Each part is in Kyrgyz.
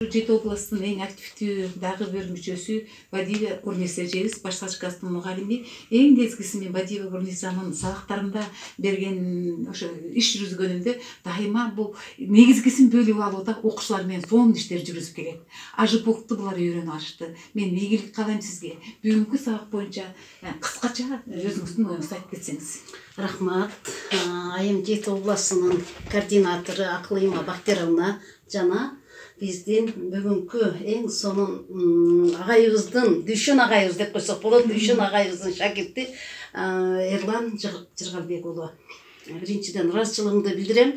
Жети областын эң активдүү дагы бир мүчөсү Бадиева Гурниса эжебиз, башталгыч класстын мугалими. Эң нечкиси мен Бадиева Гурнисанын сабактарында берген ошо иш жүргүзгөнүндө дайыма бул негизгисин бөлүп алууда окуучулар менен сонун иштер жүргүзүп келет. АЖПУКту булар үйрөнүп алышты. Мен ийгилик каалайм сизге. Бүгүнкү сабак боюнча кыскача өзүңүздүн оюңузду айтып кетсеңиз. Рахмат. Айым Жети областынын координатору Акылыйма Бактияровна жана биздин бүгүнкү эң сонун агайыбыздын, Дүйшөн агайыбыз деп койсок болот, Дүйшөн агайыбыздын шакирти Эрлан Жыргалбек уулу. Биринчиден ыраазычылыгымды билдирем.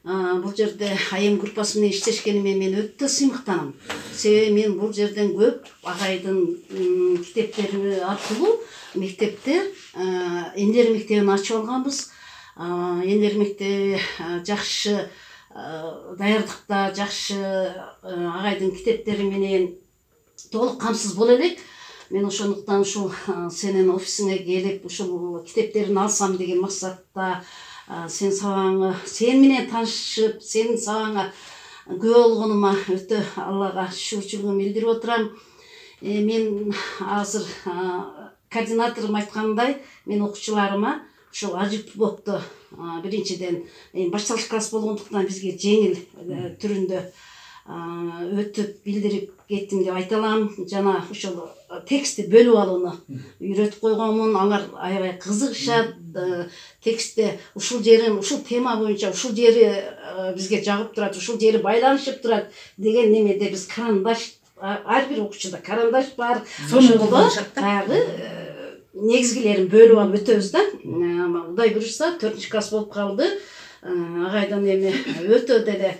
Бул жерде айым группасы менен иштешкениме мен өтө сыймыктанам. Себеби мен бул жерден көп агайдын китептери аркылуу мектептер, Эндер мектебин ачып алганбыз. Эндер мектеби жакшы даярдыкта, жакшы агайдын китептери менен толук камсыз боло элек. Мен ошондуктан ушул сенин офисиңе келип, ушул китептерин алсам деген максатта сен сабагыңа, сен менен таанышып, сенин сабагыңа күбө болгонума өтө Аллага шүгүрчүлүгүмдү билдирип отурам. Мен азыр координаторум айткандай, мен окуучуларыма ушул АЖПУКту биринчиден башталгыч класс болгондуктан бизге жеңил түрүндө өтүп билдирип кеттим деп айта алам. Жана ошол текстти бөлүп алууну үйрөтүп койгонмун. Алар аябай кызыгышат. Текстте ушул жерин, ушул тема боюнча ушул жери бизге жагып турат, ушул жери байланышып турат деген немеде биз карандаш, ар бир окуучуда карандаш бар. Ошондо баягы негизгилерин бөлүп алып өтөбүз да. Кудай буюрса 4 класс болуп калды. Агайдан эми өтө деле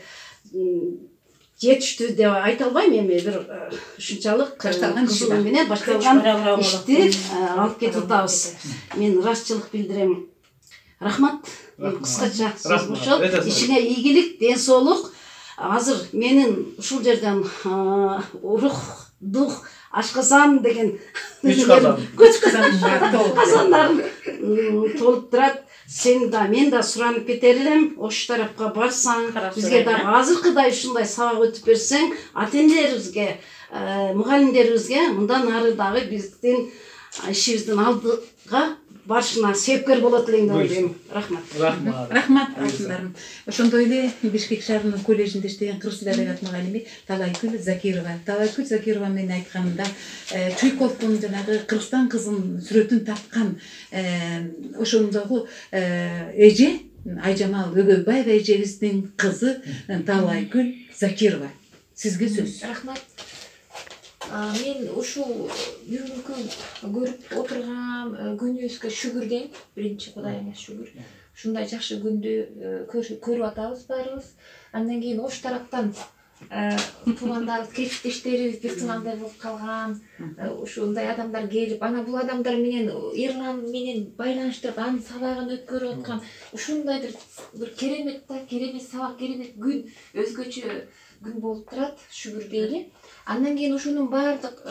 жетиштүү деп айта албайм, эми бир ушунчалык кызыгуу менен башталган ишти алып кетип атабыз. Мен ыраазычылык билдирем. Рахмат. Кыскача сөз ошол. Ишиңе ийгилик, ден соолук. Азыр менин ушул жерден рух, дух, ашказан деген көч казандарын толуп турат. Сен да, мен да суранып кетер элем. Ош тарапка барсаң, бизге дагы азыркыдай ушундай сабак өтүп берсең, ата-энелерибизге, мугалимдерибизге мындан ары дагы биздин ишибиздин алдыга барышына себепкер болот элем деп ойлойм. Рахмат. Рахмат алтындарым. Ошондой эле Бишкек шаарынын коллежинде иштеген кыргыз тили адабият мугалими Талайкүл Закирова. Талайкүл Закирова менен айтканда Чуйковдун жанагы Кыргызстан кызын сүрөтүн тарткан ошондогу эже Айжамал Өгөйбаева эжебиздин кызы Талайкүл Закирова. Сизге сөз. Рахмат. Мен ушул бүгүнкү көрүп отурган күнүбүзгө шүгүр дейм. Биринчи Кудайыма шүгүр. Ушундай жакшы күндү көрүп атабыз баарыбыз. Андан кийин ош тараптан туугандарыбыз, кесиптештерибиз бир тыңандай болуп калган. Ушундай адамдар келип, ана бул адамдар менен Эрлан менен байланыштырып, анын сабагын өткөрүп аткан ушундай бир керемет сабак, керемет күн, өзгөчө күн болуп турат. Шүгүр дейли. Андан кийин ушунун баардык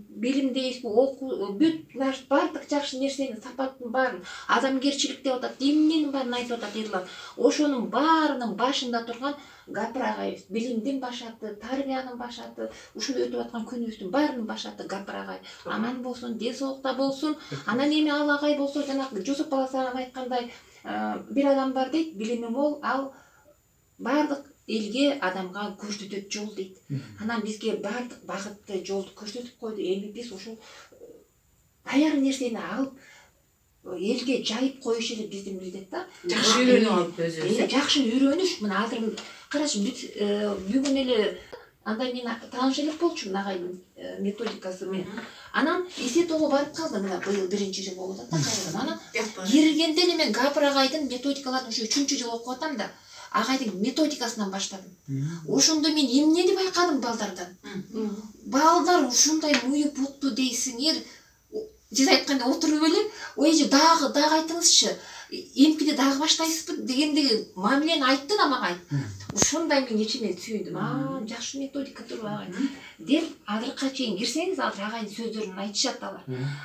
билим дейбизби, окуу, бүт баардык жакшы нерсенин сапаттын баарын, адамгерчилик деп атат, эмненин баарын айтып атат Эрлан. Ошонун баарынын башында турган Гапыр агайыбыз, билимдин башаты, тарбиянын башаты, ушул өтүп аткан күнүбүздүн баарынын башаты Гапыр агай. Аман болсун, ден соолукта болсун. Анан эми ал агай болсо, жанагы Жусуп Баласаров айткандай, бир адам бар дейт, билими мол, ал баардык элге, адамга көрсөтөт жол дейт. Анан бизге баардык багытты, жолду көрсөтүп койду. Эми биз ушул даяр нерсени алып элге жайып коюш эле биздин милдет да. Жакшы үйрөнүп алып өзүбүз. Жакшы үйрөнүш. Мына азыр карашы, бүгүн эле андай мен тааныш элек болчумун агайдын методикасы менен. Анан Эсетоого барып калдым, мына быйыл 1-жыл болуп атат да. Анан киргенде эле мен Гапыр агайдын методикаларын ушу 3-жыл окуп атам да. Агайдын методикасынан баштадым. Ошондо мен эмнени байкадым балдардан. Балдар ушундай муюп укту дейсиңер. Сиз айтканда отуруп эле, ой эже дагы айтыңызчы. Эмкиде дагы баштайсызбы дегендеги мамилени айтты да мага. Ушундай мен ичиме сүйүндүм. Жакшы методика турбайбы деп азыркыга чейин кирсеңиз, азыр агайдын сөздөрүн айтышат алар.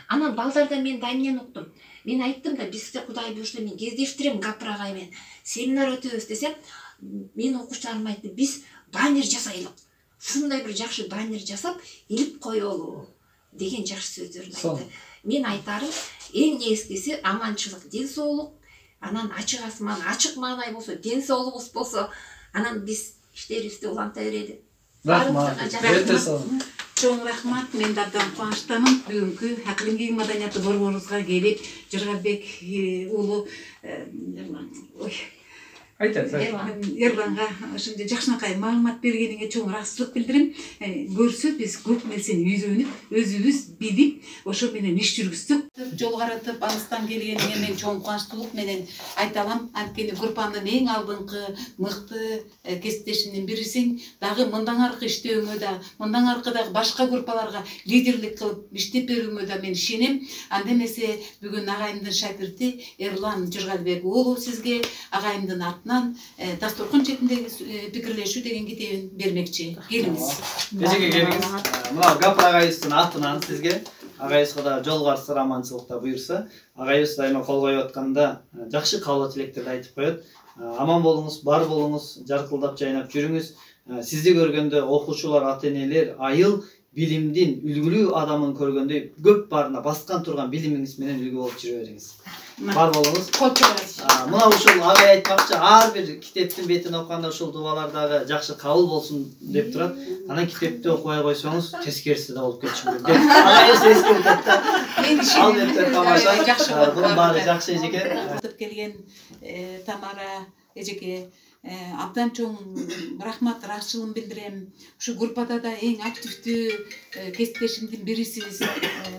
Анан балдардан мен дайымнен уктум. Мен айттым да, бизде Кудай буюрса мен кездештирем Гапыр агай менен. Семинар өтөбүз десем, мен окуучуларыма айттым, биз баннер жасайлык. Ушундай бир жакшы баннер жасап илип коелу деген жакшы сөздөрүн айтты. Мен айтарым, эң негизгиси аманчылык, ден соолук, анан ачык асман, ачык маанай болсо, ден соолугубуз болсо, анан биз иштерибизди уланта берели. Рахмат. Чоң рахмат. Мен да абдан кубанычтамын. Бүгүнкү Акылым кийин маданияты борборубузга келип, Жыргалбек уулу Эрланга ошондой жакшынакай маалымат бергениңе чоң ыраазычылык билдирем. Көрсө биз көп нерсени үйрөнүп, өзүбүз билип, ошо менен иш жүргүздүк. Жол каратып, алыстан келгениңе мен чоң кубанычтуулук менен айта алам. Анткени группанын эң алдыңкы мыкты кесиптешинин бирисиң. Дагы мындан аркы иштөөңө да, мындан аркы дагы башка группаларга лидерлик кылып иштеп берүүңө да мен ишенем. Анда эмесе бүгүн агайымдын шакирти Эрлан Жыргалбек уулу сизге агайымдын атынан дасторкон четиндеги пикирлешүү деген китебин бермекчи. Келиңиз. Эжеке келиңиз. Мына Гапыр агайыбыздын атынан сизге агайыбызга да жол барсы аманчылыкта буйрса, агайыбыз дайыма кол коюп атканда жакшы каалоо тилектерди айтып коет. Аман болуңуз, бар болуңуз, жаркылдап жайнап жүрүңүз. Сизди көргөндө окуучулар, ата-энелер айыл билимдин үлгүлүү адамын көргөндөй көп баарына баскан турган билимиңиз менен үлгү болуп жүрө бериңиз. Бар болуңуз. Мына ушул агай айтмакчы, ар бир китептин бетин окуганда ушул дубалардагы жакшы кабыл болсун деп турат. Анан китепти окубай койсоңуз, тескериси да болуп кетиши мүмкүн. Агайыбыз эскертип атты. Мен ишенем. Тамаша. Бунун баары жакшы эжеке. Айтып келген Тамара эжеке абдан чоң рахмат, ыраазычылыгымды билдирем. Ушу группада да эң активдүү кесиптешимдин бирисиз.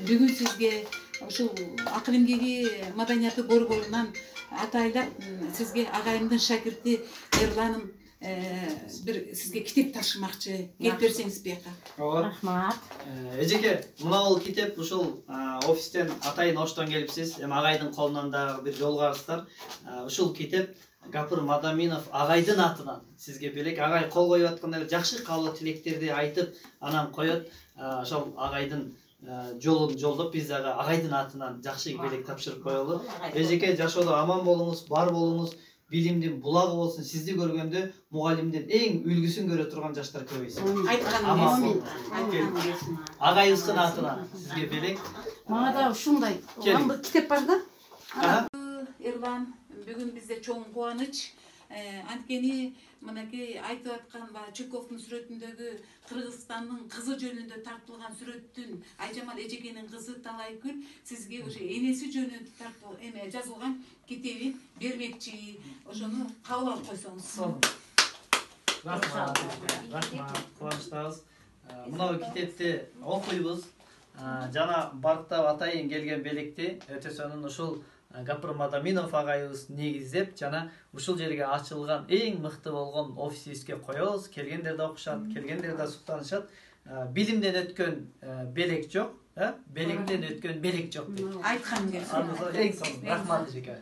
Бүгүн сизге ушул Акылым кийин маданияты борборунан атайлап сизге агайымдын шакирти Эрланым бир сизге китеп тапшырмакчы. Келип берсеңиз бияка. Рахмат. Эжеке, мына бул китеп ушул офистен атайын оштон келипсиз. Эми агайдын колунан дагы бир жол карыстар. Ушул китеп Гапыр Мадаминов агайдын атынан сизге белек. Агай кол коюп атканда жакшы каалоо тилектерди айтып, анан коет. Ошол агайдын жолун жолдоп биз дагы агайдын атынан жакшы белек тапшырып коелу. Эжеке, жашоодо аман болуңуз, бар болуңуз, билимдин булагы болсун. Сизди көргөндө мугалимдин эң үлгүсүн көрө турган жаштар көбөйсүн. Айтканым агайыбыздын атынан сизге белек. Мага да ушундай бир китеп бар да. Эрлан, бүгүн бизде чоң кубаныч. Анткени мынакей айтып аткан Чуковдун сүрөтүндөгү Кыргызстандын кызы жөнүндө тартылган сүрөттүн Айжамал эжекенин кызы Талайкүл сизге уже энеси жөнүндө жазылган китебин бермекчи. Ошону кабыл алып койсоңуз. Рахмат. Кубанычтабыз. Мына китепти окуйбуз. Жана барктап атайын келген белекти өтөсөнүн ушул Гапыр Мадаминов агайыбыз негиздеп, жана ушул жерге ачылган эң мыкты болгон офисибизге коебуз. Келгендер да окушат, келгендер да суктанышат. Билимден өткөн белек жок, белектен өткөн белек жок. Айткан келсин. Эң сонун. Рахмат эжеке.